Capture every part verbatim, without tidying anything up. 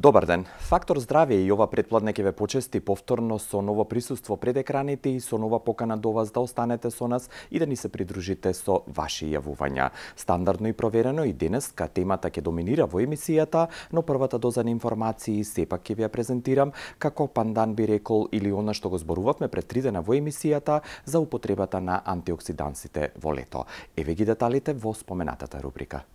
Добар ден. Фактор здравје и ова претпладне ќе ве почести повторно со ново присуство пред екраните и со нова покана до вас да останете со нас и да ни се придружите со ваши јавувања. Стандардно и проверено и денеска темата ќе доминира во емисијата, но првата доза на информации сепак ќе ви ја презентирам како пандан би рекол или она што го зборувавме пред три дена во емисијата за употребата на антиоксидансите во лето. Еве ги деталите во споменатата рубрика.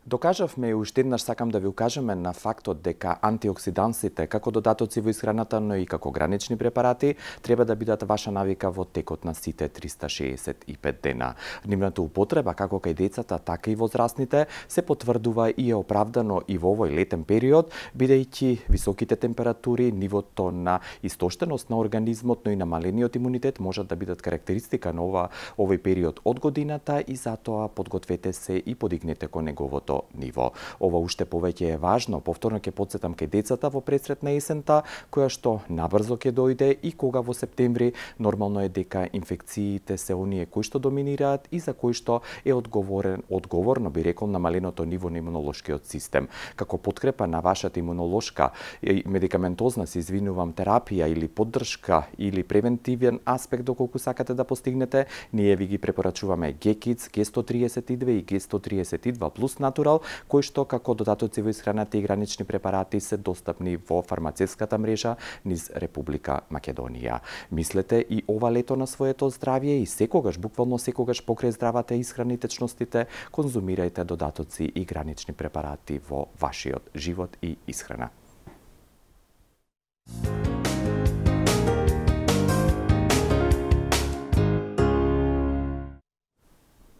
Докажавме и уште еднаш сакам да ви укажеме на фактот дека антиоксидансите како додатоци во исхраната, но и како гранични препарати треба да бидат ваша навика во текот на сите триста шеесет и пет дена. Нивната употреба како кај децата, така и возрастните се потврдува и е оправдано и во овој летен период, бидејќи високите температури, нивото на истоштеност на организмот, но и намалениот имунитет можат да бидат карактеристика на ова овој период од годината и затоа подгответе се и подигнете кон неговото ниво. Ова уште повеќе е важно, повторно ќе потсетам кај децата во пресрет на есента, која што набрзо ќе дојде и кога во септември нормално е дека инфекциите се оние кои што доминираат и за кои што е одговорен, одговорно би рекол намаленото ниво на имунолошкиот систем. Како подкрепа на вашата имунолошка медикаментозна, се извинувам, терапија или поддршка или превентивен аспект доколку сакате да постигнете, ние ви ги препорачуваме Гекидс, Г сто триесет и две и Г сто триесет и два плюс Натурал, кои што како додатоци во исхраната и гранични препарати се достапни во фармацевската мрежа низ Република Македонија. Мислете и ова лето на своето здравје и секогаш, буквално секогаш покрај здравата исхрана и течностите, конзумирајте додатоци и гранични препарати во вашиот живот и исхрана.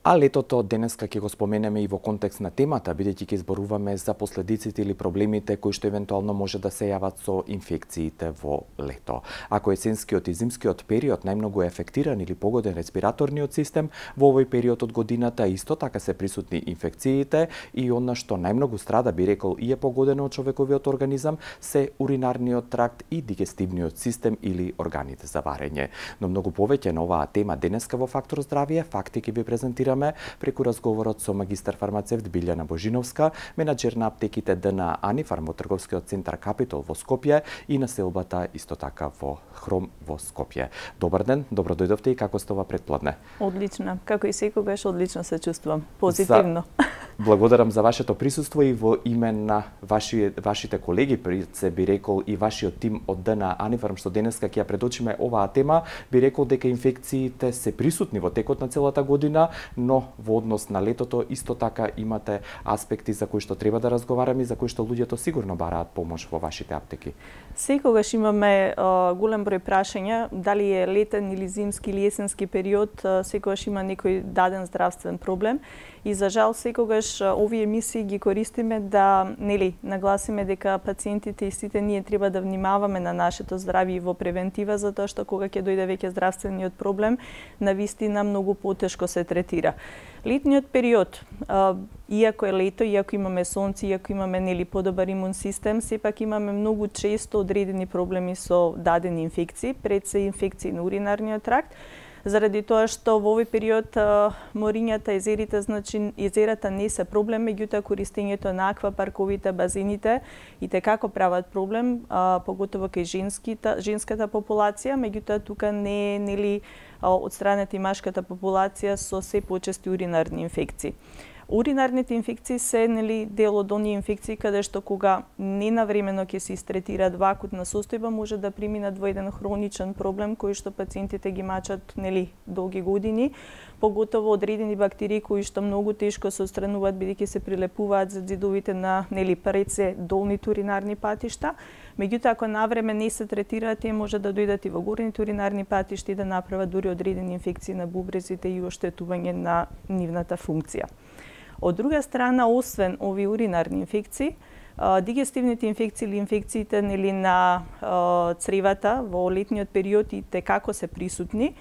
А летото денеска ќе го споменеме и во контекст на темата, бидејќи ќе зборуваме за последиците или проблемите кои што евентуално може да се јават со инфекциите во лето. Ако есенскиот и зимскиот период најмногу е афектиран или погоден респираторниот систем, во овој период од годината исто така се присутни инфекциите и она што најмногу страда би рекол и е погодено од човековиот организам се уринарниот тракт и дигестивниот систем или органите за варење. Но многу повеќе на оваа тема денеска во Фактор здравје факти ќе ви презентираме преку разговорот со магистар фармацевт Билјана Божиновска, менаџер на аптеките Д Н А Анифарм во трговскиот центар Капитол во Скопје и на селбата исто така во Хром во Скопје. Добар ден, добро дојдовте и како сте ова претпладне? Одлично, како и секогаш одлично се чувствувам, позитивно. За... Благодарам за вашето присуство и во име на ваши, вашите колеги, пред се би рекол и вашиот тим од Д Н А Анифарм, што денеска ќе ја предочиме оваа тема, би рекол дека инфекциите се присутни во текот на целата година, но во однос на летото исто така имате аспекти за кои што треба да разговараме и за кои што луѓето сигурно бараат помош во вашите аптеки. Секогаш имаме а, голем број прашања, дали е летен или зимски или есенски период, а, секогаш има некој даден здравствен проблем и за жал секогаш а, овие емисии ги користиме да нели нагласиме дека пациентите и сите ние треба да внимаваме на нашето здравје и во превентива, затоа што кога ќе дојде веќе здравствениот проблем, навистина многу потешко се третира. Летниот период, а, иако е лето, иако имаме сонце, иако имаме нели подобар имун систем, сепак имаме многу често одредени проблеми со дадени инфекции, пред се инфекции на уринарниот тракт, заради тоа што во овој период а, морињата, езерите, значи езерата не се проблем, меѓутоа користењето на аквапарковите, базените и текако прават проблем, а, поготово кај женските, женската популација, меѓутоа тука не е нели од страната и машката популација со се почести уринарни инфекции. Уринарните инфекции се нели дел од оние инфекции каде што кога ненавремено ќе се истретираат во акутна состојба може да преминат во еден хроничен проблем кој што пациентите ги мачат нели долги години, поготово одредени бактерии кои што многу тешко се отстрануваат бидејќи се прилепуваат за ѕидовите на нели пред се долните уринарни патишта. Меѓутоа ако навреме не се третираат, тие може да дојдат и во горните уринарни патишта и да направат дури одредени инфекции на бубрезите и оштетување на нивната функција. Од друга страна, освен овие уринарни инфекции, дигестивните инфекции или инфекциите нели на цревата во летниот период и текако се присутни.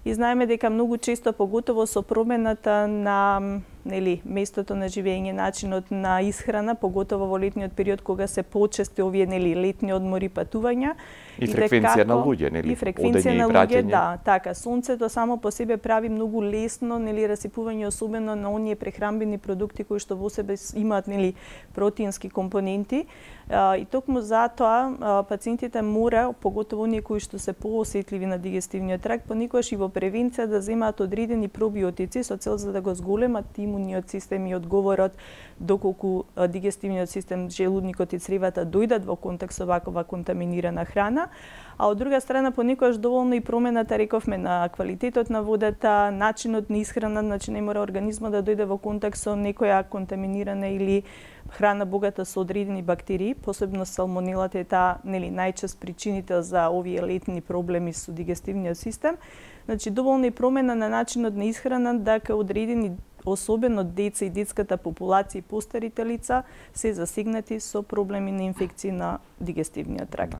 И знаеме дека многу често, поготово со промената на нели местото на живење, начинот на исхрана, поготово во летниот период кога се почести овие нели летни одмори, патувања. И фреквенција на луѓе, нели? И фреквенција на луѓе, да, така. Сонцето само по себе прави многу лесно, нели, расипување, особено на оние прехранбени продукти кои што во себе имаат, нели, протеински компоненти. И токму затоа пациентите мора, поготово оние кои што се поосетливи на дигестивниот тракт, понекогаш и во превенција да земаат одредени пробиотици со цел за да го зголемат имуниот систем и одговорот доколку дигестивниот систем, желудникот и цревата дојдат во контакт со вакова контаминирана храна. А од друга страна понекогаш доволно и промената, рековме, на квалитетот на водата, начинот на исхрана, значи не мора организмот да дојде во контакт со некоја контаминирана или храна богата со одредени бактерии, посебно салмонелата е таа, нели, најчест причинител за овие летни проблеми со дигестивниот систем. Значи доволно и промена на начинот на исхрана, дека одредени, особено деца и детската популација и постарите лица се засегнати со проблеми на инфекции на дигестивниот тракт.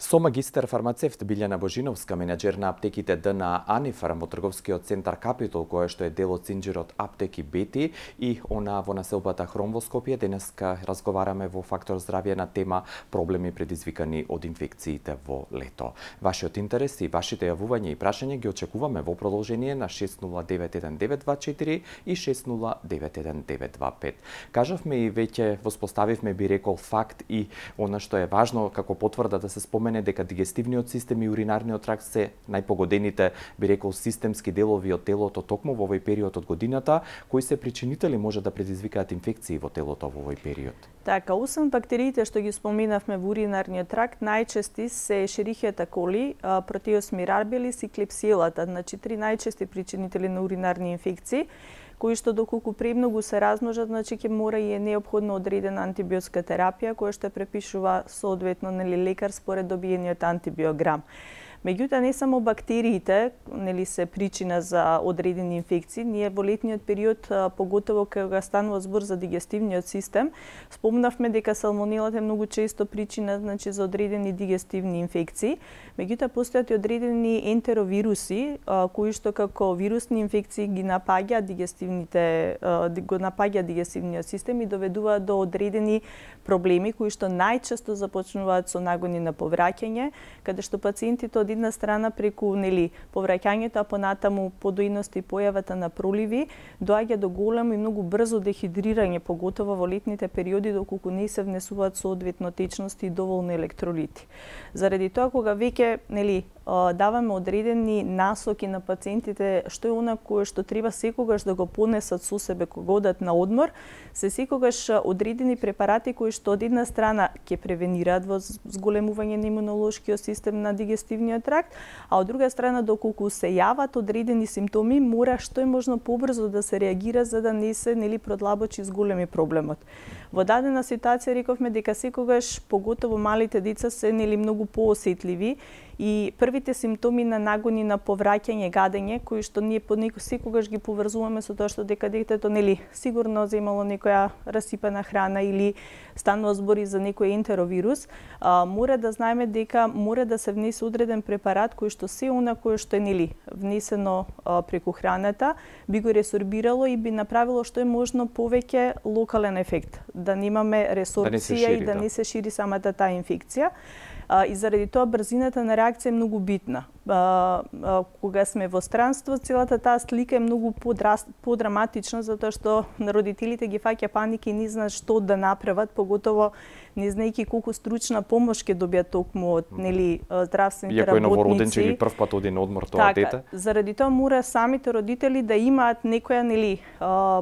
Со магистер фармацевт Билјана Божиновска, менеджер на аптеките Д на Анифарм од трговскиот центар Капитол, која што е дел од синџирот Аптеки Бети и она во населбата Хром во Скопје, денеска разговараме во Фактор здравје на тема проблеми предизвикани од инфекциите во лето. Вашиот интерес и вашите јавувања и прашања ги очекуваме во продолжение на шест нула девет еден девет два четири и шест нула девет еден девет два пет. Кажавме и веќе воспоставивме, би рекол, факт и она што е важно како потврда да се спомене дека дигестивниот систем и уринарниот тракт се најпогодените, би рекол, системски делови од телото токму во овој период од годината, кои се причинители може да предизвикаат инфекции во телото во овој период. Така, освен бактериите што ги споменавме во уринарниот тракт, најчести се Ешерихијата коли, Протеус мирабилис и клепсиелата, значи три најчести причинители на уринарни инфекции, кои што доколку премногу се размножат, значи ќе мора и е неопходно одредена антибиотска терапија, која што препишува соодветно, нели, лекар според добиениот антибиограм. Меѓутоа, не само бактериите, нели, се причина за одредени инфекции. Ние во летниот период, поготово кога станува збор за дигестивниот систем, спомнавме дека салмонелата е многу често причина, значи, за одредени дигестивни инфекции. Меѓутоа, постојат и одредени ентеровируси, кои што како вирусни инфекции ги напаѓаат дигестивните, го напаѓаат дигестивниот систем и доведуваат до одредени проблеми кои што најчесто започнуваат со нагони на повраќање, каде што пациентите од една страна преку, нели, повраќањето, а понатаму подојност и појавата на проливи, доаѓа до големо и многу брзо дехидрирање, поготово во летните периоди, доколку не се внесуваат соодветно течности и доволно електролити. Заради тоа, кога веќе, нели, даваме одредени насоки на пациентите што е она кое што треба секогаш да го понесат со себе кога одат на одмор, се секогаш одредени препарати кои што од една страна ќе превенираат во зголемување на имунолошкиот систем на дигестивниот тракт, а од друга страна доколку се јават одредени симптоми, мора што е можно побрзо да се реагира за да не се, нели, продлабочи зголеми проблемот. Во дадена ситуација рековме дека секогаш, поготово малите деца, се, нели, многу поосетливи и првите симптоми на нагони на повраќање, гадење, кои што ние понекогаш секогаш ги поврзуваме со тоа што дека детето, нели, сигурно земало некоја расипана храна или станува збори за некој ентеровирус, а, мора да знаеме дека мора да се внесе одреден препарат кој што се она кое што е, нели, внесено а, преку храната би го ресорбирало и би направило што е можно повеќе локален ефект, да немаме ресорбција да и да не се шири самата таа инфекција. А, и заради тоа брзината на реакција е многу битна. А, а, кога сме во странство, целата таа слика е многу подраматична, затоа што родителите ги фаќа паника и не знаат што да направат, поготово не знаејќи колку стручна помош ќе добијат токму од, нели, здравствените работници. Иако е новороден, че ги прв пат оди на одмор тоа така, дете. Заради тоа мора самите родители да имаат некоја, нели,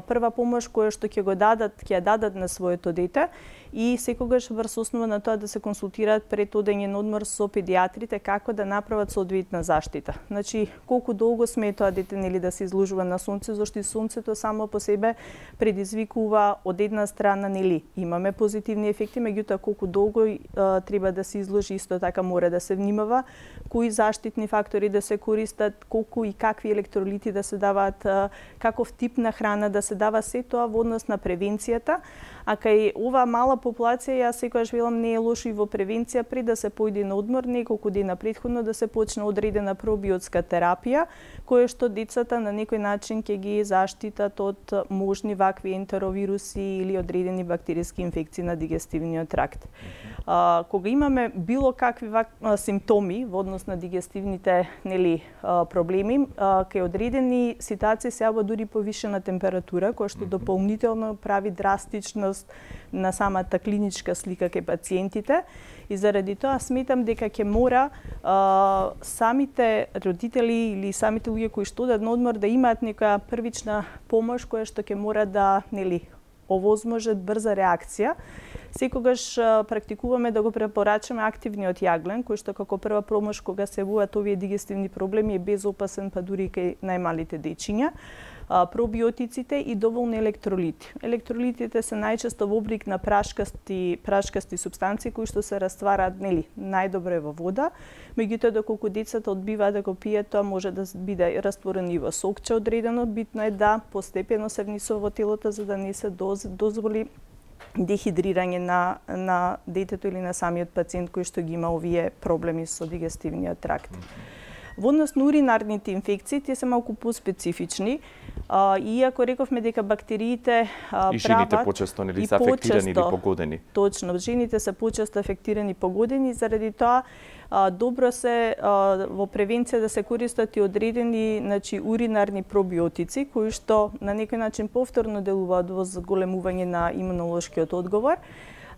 прва помош која што ќе го дадат, ќе ја дадат на своето дете и секогаш врз основа на тоа да се консултираат пред одење на одмор со педиатрите како да направат соодветна заштита. Значи, колку долго сме тоа дете, нели, да се изложува на сонце, зашто и сонцето само по себе предизвикува од една страна, нели, имаме позитивни ефекти, меѓутоа колку долго а, треба да се изложи, исто така мора да се внимава кои заштитни фактори да се користат, колку и какви електролити да се даваат, а, каков тип на храна да се дава, се тоа во однос на превенцијата, А кај оваа мала популација, јас секогаш велам, не е лошо и во превенција пред да се појде на одмор неколку дена претходно да се почне одредена пробиотска терапија, која што децата на некој начин ќе ги заштитат од можни вакви ентеровируси или одредени бактериски инфекции на дигестивниот тракт. А, кога имаме било какви вак, а, симптоми во однос на дигестивните нели а, проблеми, а, кај одредени ситуации се јавува дури повишена температура, која што дополнително прави драстичност на самата клиничка слика кај пациентите, и заради тоа сметам дека ќе мора а, самите родители или самите луѓе кои што одат на одмор да имаат некоја првична помош која што ќе мора да нели овозможат брза реакција. Секогаш а, практикуваме да го препорачаме активниот јаглен, кој што како прва помош кога се јавуваат овие дигестивни проблеми е безопасен, па дури кај најмалите дечиња. А, пробиотиците и доволни електролити. Електролитите се најчесто во облик на прашкасти, прашкасти супстанции кои што се раствараат нели најдобро во вода, меѓутоа доколку децата одбиваат да го пијат, тоа може да биде растворено и во сокче одредено, битно е да постепено се внесува во телото за да не се доз, дозволи дехидрирање на, на детето или на самиот пациент кој што ги има овие проблеми со дигестивниот тракт. Во однос на уринарните инфекции, тие се малку поспецифични, а, иако рековме дека бактериите а, и жените прават, почесто нели се афектирани или погодени. Точно, жените се почесто афектирани и погодени, заради тоа а, добро се а, во превенција да се користат и одредени, значи, уринарни пробиотици кои што на некој начин повторно делуваат во зголемување на имунолошкиот одговор.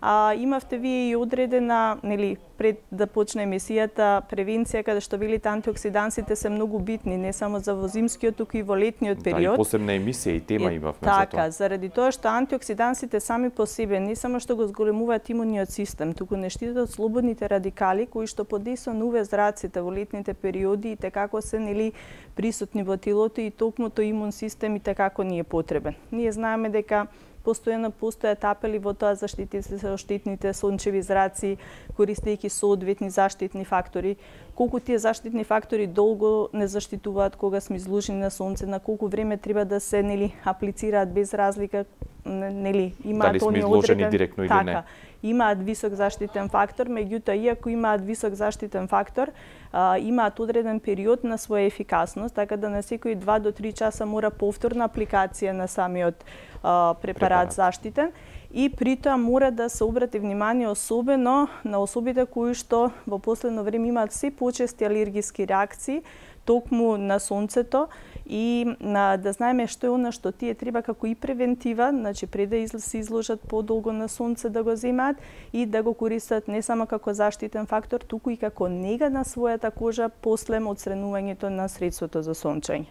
А, имавте вие и одредена, нели, пред да почне емисијата, превенција каде што велите антиоксидансите се многу битни, не само за во зимскиот, туку и во летниот период. Да, и посебна емисија и тема е, имавме така, за тоа. заради тоа што антиоксидансите сами по себе не само што го зголемуваат имуниот систем, туку не штитат слободните радикали кои што под дејството на УВ зраците во летните периоди и како се нели присутни во телото и токму тој имун систем и како ни е потребен. Ние знаеме дека постојано постојат апели во тоа заштитите се од штетните сончеви зраци, користејќи соодветни заштитни фактори. Колку тие заштитни фактори долго не заштитуваат кога сме изложени на сонце, на колку време треба да се нели аплицираат без разлика, нели имаат дали сме изложени одреден, директно или така, не. Имаат висок заштитен фактор, меѓутоа иако имаат висок заштитен фактор, а, имаат одреден период на своја ефикасност, така да на секои два до три часа мора повторна апликација на самиот а, препарат, препарат заштитен, и при тоа мора да се обрати внимание особено на особите кои што во последно време имаат се почести алергиски реакции токму на сонцето, и на, да знаеме што е она што тие треба како и превентива, значи пред да се изложат подолго на сонце да го земаат и да го користат не само како заштитен фактор, туку и како нега на својата кожа после одстранувањето на средството за сончење.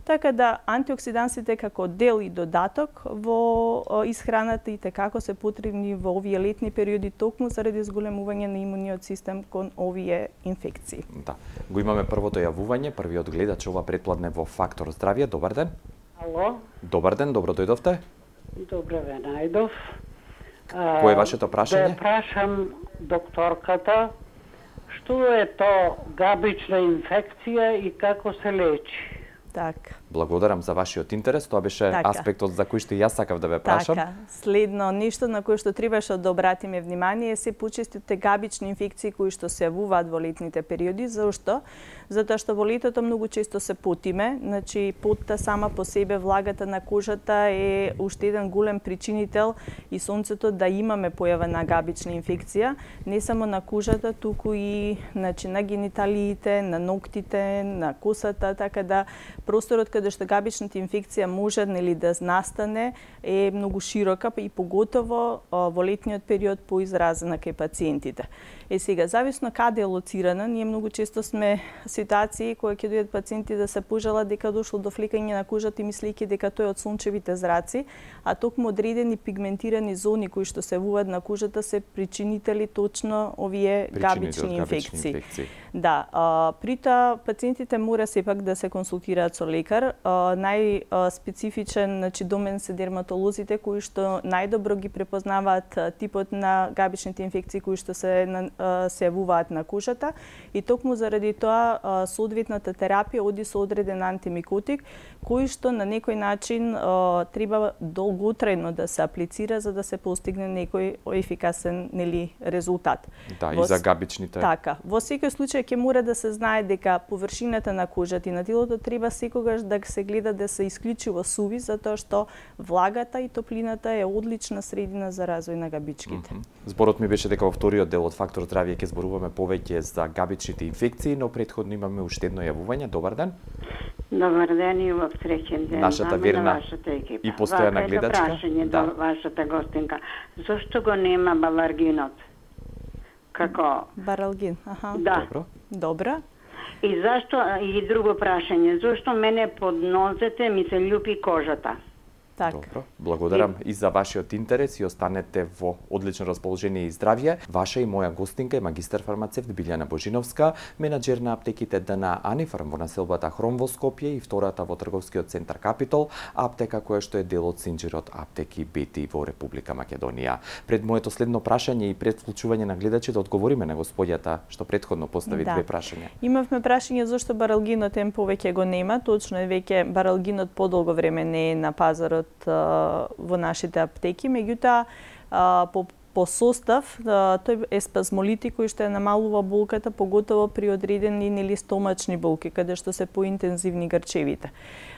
Така да антиоксидансите како дел и додаток во исхраната и како се потребни во овие летни периоди токму заради зголемување на имуниот систем кон овие инфекции. Да. Го имаме првото јавување, првиот гледач ова претпладне во Фактор здравје. Добар ден. Ало. Добар ден, добро дојдовте. Добре ве најдов. Кој е вашето прашање? Да прашам докторката што е то габична инфекција и како се лечи. Така. Благодарам за вашиот интерес, тоа беше така. Аспектот за кој што и јас сакав да ве прашам. Така, следно нешто на кое што требаше да обратиме внимание е се почестите габични инфекции кои што се јавуваат во летните периоди. Зошто? Затоа што во летото многу често се потиме, значи потта сама по себе, влагата на кожата е уште еден голем причинител и сонцето да имаме појава на габична инфекција, не само на кожата, туку и значи на гениталиите, на ноктите, на косата, така да просторот каде што габичната инфекција може нели да настане е многу широка и поготово во летниот период поизразена кај пациентите. Е сега зависно каде е лоцирана, ние многу често сме ситуации кои ќе дојдат пациенти да се пожалат дека дошло до флекање на кожата и мислејќи дека тоа е од сончевите зраци, а токму одредени пигментирани зони кои што се јавуваат на кожата се причинители точно овие габични инфекции. инфекции. Да, а, при тоа пациентите мора сепак да се консултираат со лекар. Најспецифичен, значи домен се дерматолозите кои што најдобро ги препознаваат типот на габичните инфекции кои што се се јавуваат на кожата и токму заради тоа соодветната терапија оди со одреден антимикотик кој што на некој начин треба долготрајно да се аплицира за да се постигне некој ефикасен нели резултат. Да, во... и за габичните. Така, во секој случај ќе мора да се знае дека површината на кожата и на телото треба секогаш да се гледа да се исклучиво суви затоа што влагата и топлината е одлична средина за развој на габичките. Mm -hmm. Зборот ми беше дека во вториот дел од Фактор здравје ќе зборуваме повеќе за габичните инфекции, но претходно имаме уште едно јавување. Добар ден. Добар ден и во среќен ден. Нашата верна и постојана гледачка. Прашање да. До вашата гостинка. Зошто го нема баларгинот? Како? Баралгин, аха. Да. Добро. Добра. И зашто, и друго прашање, зошто мене под нозете ми се љупи кожата? Так. Добро, благодарам и... и за вашиот интерес и останете во одлично расположение и здравје. Ваша и моја гостинка е магистар фармацевт Билјана Божиновска, менаџер на аптеките ДН Анифарм во населбата Хром во Скопје и втората во трговскиот центар Капитол, аптека која што е дел од синџирот Аптеки Бети во Република Македонија. Пред моето следно прашање и пред вклучување на гледачи да одговориме на господјата што претходно постави да. две прашања. Имавме прашање зошто баралгинот ем повеќе го нема, точно е веќе баралгинот подолго време не е на пазарот во нашите аптеки, меѓутоа по по состав тој е спазмолитик кој што е намалува болката, поготово при одредени нели стомачни болки каде што се поинтензивни грчевите.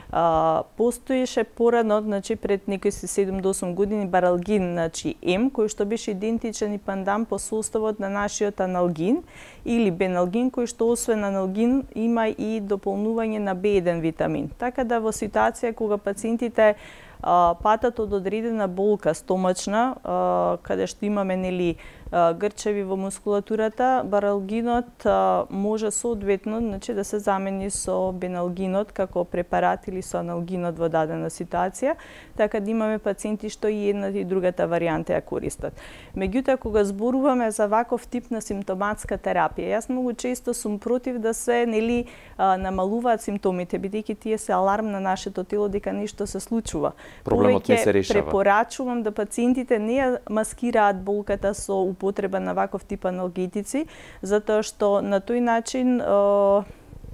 Uh, постоеше порано, значи пред некои седум до осум години баралгин, значи М, кој што беше идентичен и пандан по составот на нашиот аналгин или беналгин, кој што освен аналгин има и дополнување на Б еден витамин. Така да во ситуација кога пациентите uh, патат од одредена болка стомачна, uh, каде што имаме нели грчеви во мускулатурата, баралгинот може соодветно, значи да се замени со беналгинот како препарат или со аналгинот во дадена ситуација, така да имаме пациенти што и едната и другата варијанта ја користат. Меѓутоа кога зборуваме за ваков тип на симптоматска терапија, јас многу често сум против да се нели намалуваат симптомите, бидејќи тие се аларм на нашето тело дека нешто се случува. Проблемот не се решава. Препорачувам да пациентите не ја маскираат болката со употреба на ваков тип аналгетици, затоа што на тој начин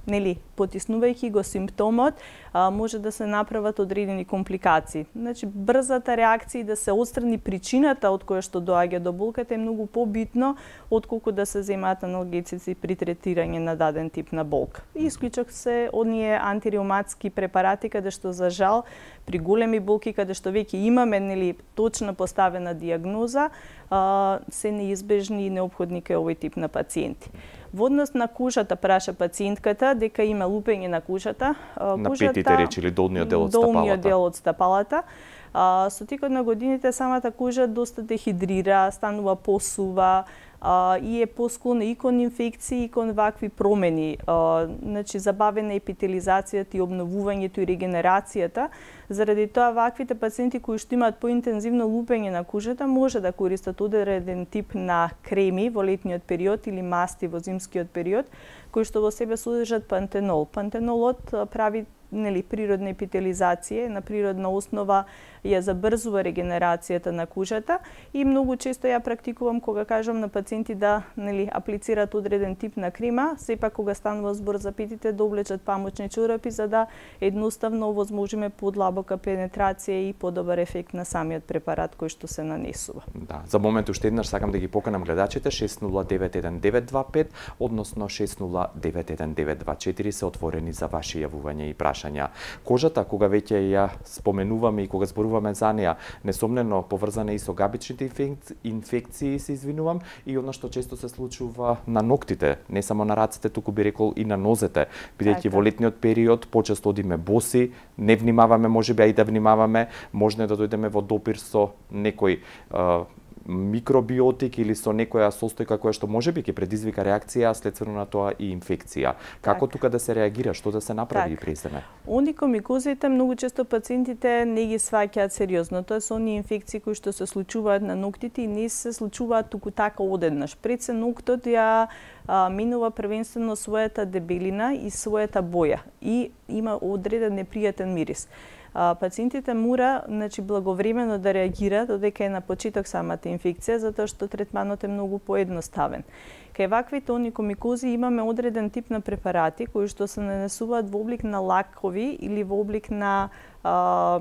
нели потиснувајќи го симптомот, а, може да се направат одредени компликации. Значи, брзата реакција да се отстрани причината од која што доаѓа до болката е многу побитно отколку да се земаат аналгетици при третирање на даден тип на болка. И исклучок се оние антиреуматски препарати каде што за жал при големи болки каде што веќе имаме нели точно поставена дијагноза, а, се неизбежни и неопходни кај овој тип на пациенти. Во однос на кожата праша пациентката дека има лупење на кожата, на кожата, петите речи или долниот дел од стапалата. Долниот дел од стапалата. А, со текот на годините самата кожа доста дехидрира, станува посува, а, и е посклона и кон инфекции и кон вакви промени. А, значи забавена епителизацијата и обновувањето и регенерацијата. Заради тоа ваквите пациенти кои што имаат поинтензивно лупење на кожата може да користат одреден тип на креми во летниот период или масти во зимскиот период, кои што во себе содржат пантенол. Пантенолот прави нели природна епителизација, на природна основа ја забрзува регенерацијата на кожата и многу често ја практикувам кога кажам на пациенти да нели аплицираат одреден тип на крема, сепак кога станува збор за петите да облечат памучни чорапи за да едноставно овозможиме подлабока пенетрација и подобар ефект на самиот препарат кој што се нанесува. Да, за момент уште еднаш сакам да ги поканам гледачите шест нула девет еден девет два пет, односно шест нула девет еден девет два четири се отворени за ваши јавувања и прашања. Кожата, кога веќе ја споменуваме и кога зборуваме за неа, несомнено поврзана и со габичните инфекции, се извинувам, и она што често се случува на ноктите, не само на рацете, туку би рекол и на нозете, бидејќи во летниот период почесто одиме боси, не внимаваме, можеби а и да внимаваме, можно да дојдеме во допир со некој микробиотик или со некоја состојка која што можеби ќе предизвика реакција, следствено на тоа и инфекција. Како тука да се реагира, што да се направи при семе? Оникомикозите многу често пациентите не ги сваќаат сериозно. Тоа се оние инфекции кои што се случуваат на ноктите и не се случуваат туку така одеднаш. Пред се ноктот ја а, минува првенствено својата дебелина и својата боја и има одреден непријатен мирис. Пациентите мора, значи, благовремено да реагираат додека е на почеток самата инфекција, затоа што третманот е многу поедноставен. Кај ваквите оникомикози имаме одреден тип на препарати кои што се нанесуваат во облик на лакови или во облик на а,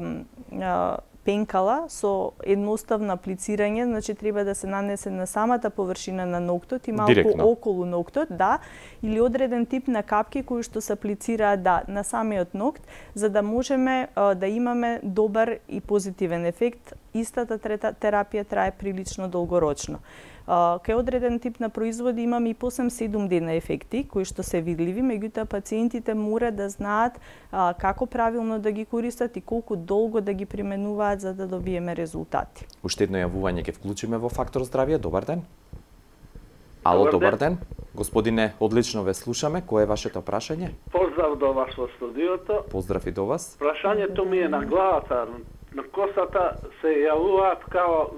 а, пенкала со едноставно аплицирање, значи треба да се нанесе на самата површина на ноктот и малку Директно. околу ноктот, да, или одреден тип на капки кои што се аплицираат да на самиот нокт, за да можеме а, да имаме добар и позитивен ефект. Истата терапија трае прилично долгорочно. Uh, кај одреден тип на производи имаме и по седум дена ефекти, кои што се видливи, меѓутоа пациентите мора да знаат uh, како правилно да ги користат и колку долго да ги применуваат за да добиеме резултати. Уште едно јавување ќе вклучиме во Фактор здравје. Добар ден. Ало, добар, добар ден. Господине, одлично ве слушаме. Кое е вашето прашање? Поздрав до вас во студиото. Поздрав и до вас. Прашањето ми е на главата. На косата се јавуваат као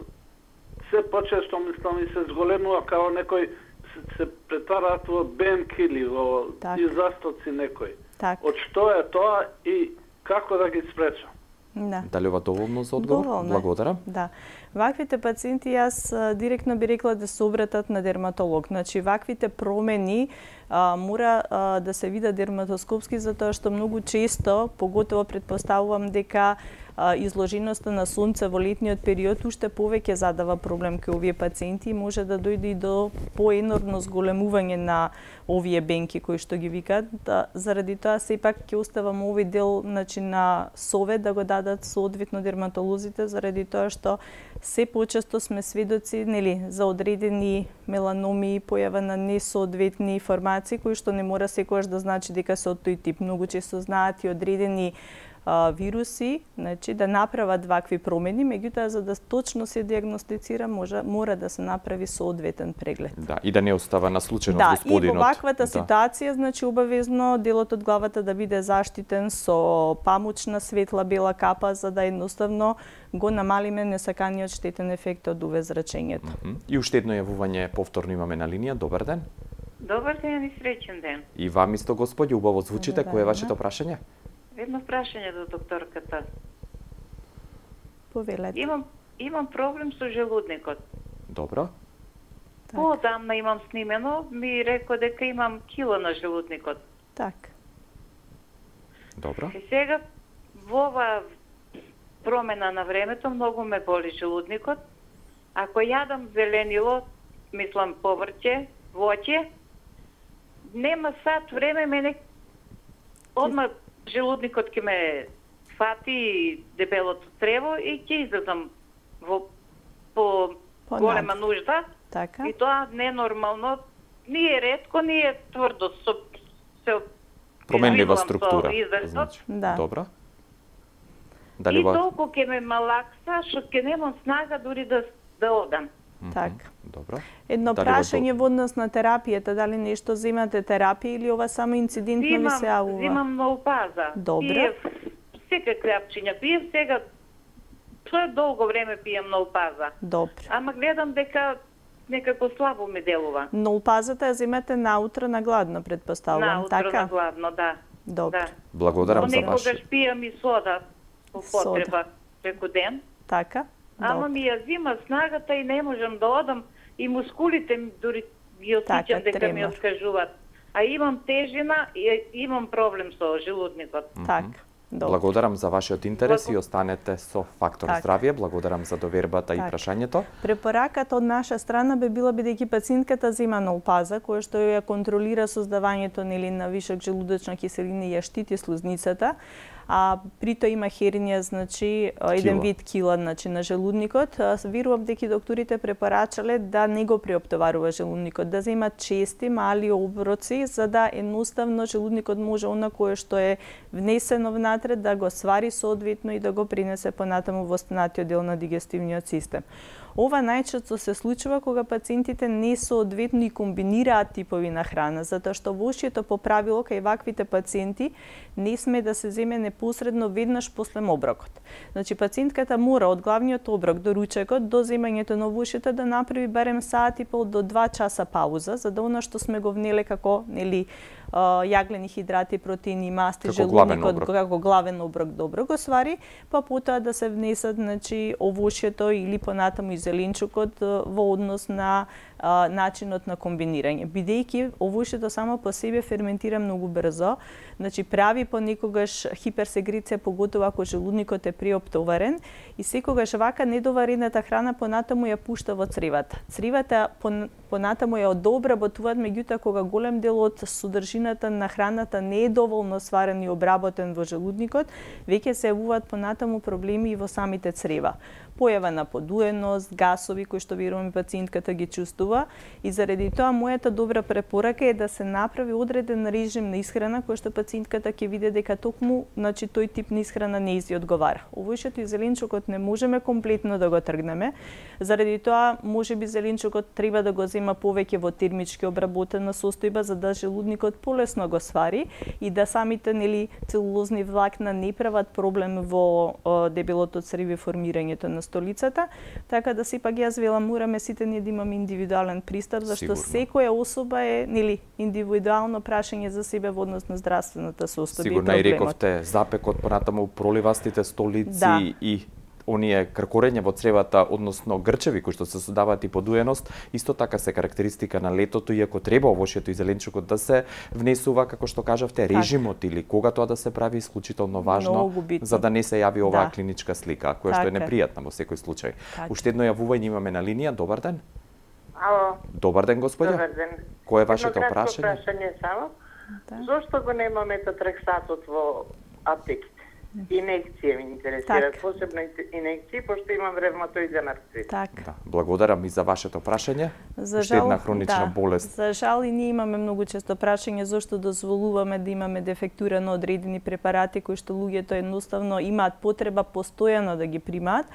се почесто мислам и се зголемува као некој се, се претвараат во бенки или во изастоци некој. Так. Од што е тоа и како да ги спречам? Да. Дали ова доволно за одговор? Доволно. Благодарам. Да. Ваквите пациенти јас директно би рекла да се обратат на дерматолог. Значи ваквите промени а, мора а, да се видат дерматоскопски затоа што многу често, поготово предпоставувам дека изложеноста на сонце во летниот период уште повеќе задава проблем кај овие пациенти и може да дојде и до поенорно зголемување на овие бенки кои што ги викаат. Да, заради тоа сепак ќе оставам овој дел, значи, на совет да го дадат соодветно дерматолозите, заради тоа што се почесто сме сведоци, нели, за одредени меланоми, појава на несоодветни формации кои што не мора секогаш да значи дека се од тој тип. Многу често знаат и одредени вируси, значи да направат вакви промени, меѓутоа за да точно се диагностицира може мора да се направи соодветен преглед. Да, и да не остава на случајност да, господинот. Да, и во ваквата да. ситуација, значи обавезно делот од главата да биде заштитен со памучна светла бела капа за да едноставно го намалиме несаканиот штетен ефект од уве зрачењето. Mm -hmm. И уште едно јавување повторно имаме на линија. Добар ден. Добар ден и среќен ден. И вам исто, господи, убаво звучите. Кое е вашето прашање? Едно прашање до докторката. Повелете. Имам имам проблем со желудникот. Добро. Поодамна имам снимено, ми рекол дека имам кило на желудникот. Так. Добро. И сега во ова промена на времето многу ме боли желудникот. Ако јадам зеленило, мислам поврќе, воќе, нема сат време мене одма желудникот ќе ме фати дебелото црево и ќе излезам во по Понад. голема нужда. Така. И тоа ненормално, ние ретко, ние тврдо со се променлива структура. Значи, да. Добро. Дали и ва... толку ќе ме малакса, што ќе немам снага дури да да одам. Mm -hmm. Така. Добро. Едно дали прашање во однос на терапијата, дали нешто земате терапија или ова само инцидентно зимам, ви се јавува? Зимам ноопаза. Добро. Пиев секакви апчиња пиев, сега тоа е долго време пием ноопаза. Добро. Ама гледам дека некако слабо ми делува. Ноопазата ја земете наутро на гладно, предпоставувам, наутро така? Наутро на гладно, да. Добро. Да. Благодарам Но за ваш. некогаш пијам и сода по потреба преку ден. Така? Ама Добро. ми ја зима снагата и не можам да одам и мускулите ми дури ги осеќам дека тремор. ми откажуваат. А имам тежина и имам проблем со желудникот. Така. Добро. Благодарам за вашиот интерес Благо... и останете со Фактор так. здравје. Благодарам за довербата так. и прашањето. Препораката од наша страна би била бидејќи пациентката зема ноопаза, која што ја контролира создавањето нели на вишок желудочна киселина и ја штити слузницата, а при тоа има хернија, значи еден вид кила, значи на желудникот. Верувам дека докторите препорачале да не го преоптоварува желудникот, да зема чести мали оброци за да едноставно желудникот може она кое што е внесено внатре да го свари соодветно и да го принесе понатаму во останатиот дел на дигестивниот систем. Ова најчесто се случува кога пациентите не соодветно и комбинираат типови на храна, затоа што во ушието по правило кај ваквите пациенти не сме да се земе непосредно веднаш после оброкот. Значи пациентката мора од главниот оброк до ручекот до земањето на ушите да направи барем саат и пол до два часа пауза, за да она што сме го внеле како нели јаглени хидрати, протеини, масти, желудникот како главен оброк добро го свари, па потоа да се внесат значи овошјето или понатаму и зеленчукот во однос на а, начинот на комбинирање. Бидејќи овошјето само по себе ферментира многу брзо, значи прави понекогаш хиперсекреција, поготово ако желудникот е преоптоварен, и секогаш вака недоварената храна понатаму ја пушта во цревата. Цревата понатаму ја дообработуваат, меѓутоа кога голем дел од содржината на храната не е доволно сварен и обработен во желудникот, веќе се јавуваат понатаму проблеми и во самите црева. Појава на подуеност, гасови кои што верувам пациентката ги чувствува, и заради тоа мојата добра препорака е да се направи одреден режим на исхрана кој што пациентката ќе види дека токму значи тој тип на исхрана не ѝ одговара. Овошјето и зеленчукот не можеме комплетно да го тргнеме, заради тоа можеби зеленчукот треба да го зема повеќе во термички обработена состојба за да желудникот полесно го свари и да самите нели целулозни влакна не прават проблем во о, дебелото црево и формирањето на столицата, така да сепак јас велам мораме сите ние да имаме индивидуален пристап, зашто секоја особа е нели индивидуално прашање за себе во однос на здравствената состојба. Сигурно и рековте запекот, понатаму проливастите столици да. И оние кркорење во цревата, односно грчеви кои што се создаваат и подуеност, исто така се карактеристика на летото, иако треба овошјето и зеленчукот да се внесува, како што кажавте, режимот или кога тоа да се прави исклучително важно, за да не се јави оваа да. Клиничка слика, која така. Што е непријатна во секој случај. Така. Уште едно јавување имаме на линија. Добар ден. Ало. Добар ден, господја. Добар ден. Кој е вашето прашање? прашање? прашање само. Да. Зошто го немаме метотрексатот во аптеките? Инекција ми интересира, так. Посебно инекции, пошто имам ревматоиден артрит. Так. Да, благодарам и за вашето прашање. За Уште една хронична да. Болест. За жал и ние имаме многу често прашање зошто дозволуваме да имаме дефектура на одредени препарати кои што луѓето едноставно имаат потреба постојано да ги примаат.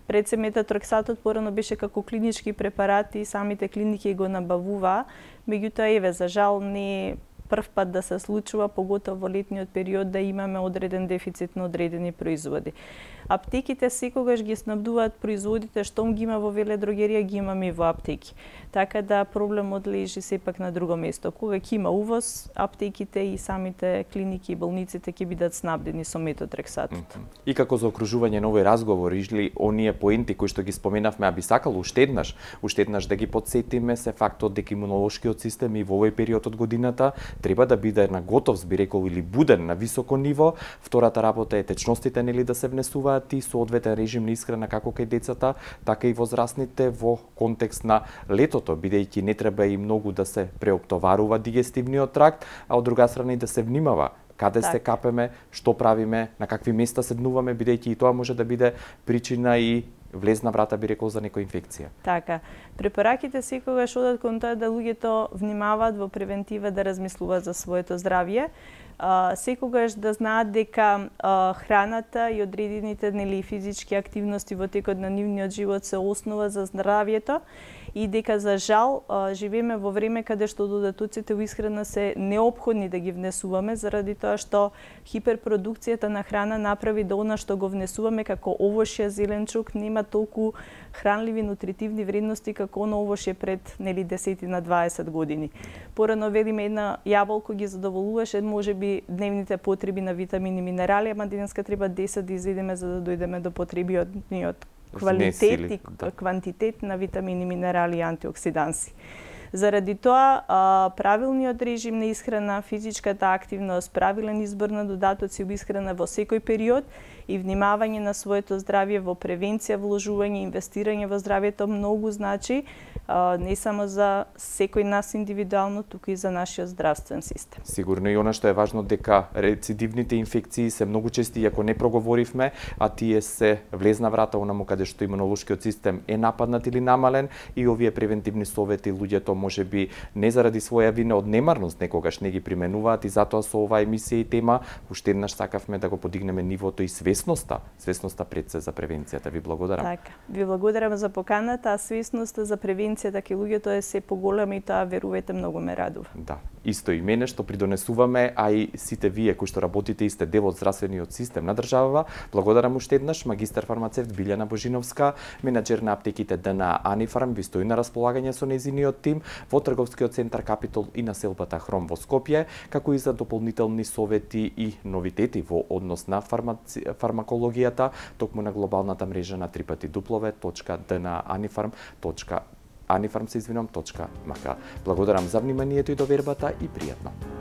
Пред се метотрексатот порано беше како клинички препарати и самите клиники го набавуваа, меѓутоа еве за жал не прв пат да се случува, поготово во летниот период, да имаме одреден дефицит на одредени производи. Аптеките секогаш ги снабдуваат производите, штом ги има во веледрогерија, ги имаме и во аптеки. Така да проблемот лежи сепак на друго место. Кога ќе има увоз, аптеките и самите клиники и болниците ќе бидат снабдени со метотрексатот. Mm-hmm. И како за окружување на овој разговор, или оние поенти кои што ги споменавме, а би сакал уште еднаш, уште еднаш да ги потсетиме се фактот дека имунолошкиот систем и во овој период од годината треба да биде на готов, би рекол, или буден на високо ниво. Втората работа е течностите нели да се внесуваат и соодветен режим на исхрана како кај децата, така и возрастните во контекст на летото, бидејќи не треба и многу да се преоптоварува дигестивниот тракт, а од друга страна и да се внимава каде так. Се капеме, што правиме, на какви места седнуваме, бидејќи и тоа може да биде причина и влезна врата, би рекол, за некоја инфекција. Така. Препораките секогаш одат кон тоа да луѓето внимаваат во превентива, да размислуваат за своето здравје. Uh, секогаш да знаат дека uh, храната и одредените нели физички активности во текот на нивниот живот се основа за здравјето и дека за жал uh, живееме во време каде што додатоците во исхрана се неопходни да ги внесуваме, заради тоа што хиперпродукцијата на храна направи да она што го внесуваме како овошје, зеленчук нема толку хранливи нутритивни вредности како оно овошје пред нели десет на дваесет години. Порано велиме една јаболко ги задоволуваше можеби дневните потреби на витамини и минерали, ама денеска треба десет да изедеме за да дојдеме до потребиот квалитет и да. Квантитет на витамини, минерали и антиоксиданси. Заради тоа, правилниот режим на исхрана, физичката активност, правилен избор на додатоци во исхрана во секој период и внимавање на своето здравје во превенција, вложување, инвестирање во здравјето многу значи, не само за секој нас индивидуално, туку и за нашиот здравствен систем. Сигурно и она што е важно дека рецидивните инфекции се многу чести, иако не проговоривме, а тие се влезна врата онаму каде што имунолошкиот систем е нападнат или намален, и овие превентивни совети луѓето можеби не заради своја вина, од немарност некогаш не ги применуваат, и затоа со оваа емисија и тема уште еднаш сакавме да го подигнеме нивото и свесноста, свесноста пред се за превенцијата. Ви благодарам. Така, ви благодарам за поканата, а свесноста за превенцијата кај луѓето е се поголема и тоа, верувајте, многу ме радува. Да, исто и мене што придонесуваме, а и сите вие кои што работите и сте дел од здравствениот систем на државава. Благодарам уште еднаш магистар фармацевт Билјана Божиновска, менаџер на аптеките ДНА Анифарм, ви стои на располагање со нејзиниот тим во трговскиот центар Капитол и на селбата Хром во Скопје, како и за дополнителни совети и новитети во однос на фармаци... фармакологијата, токму на глобалната мрежа на три пати дуплове точка д н а анифарм точка анифарм се извинувам точка м к. Благодарам за вниманието и довербата и пријатно.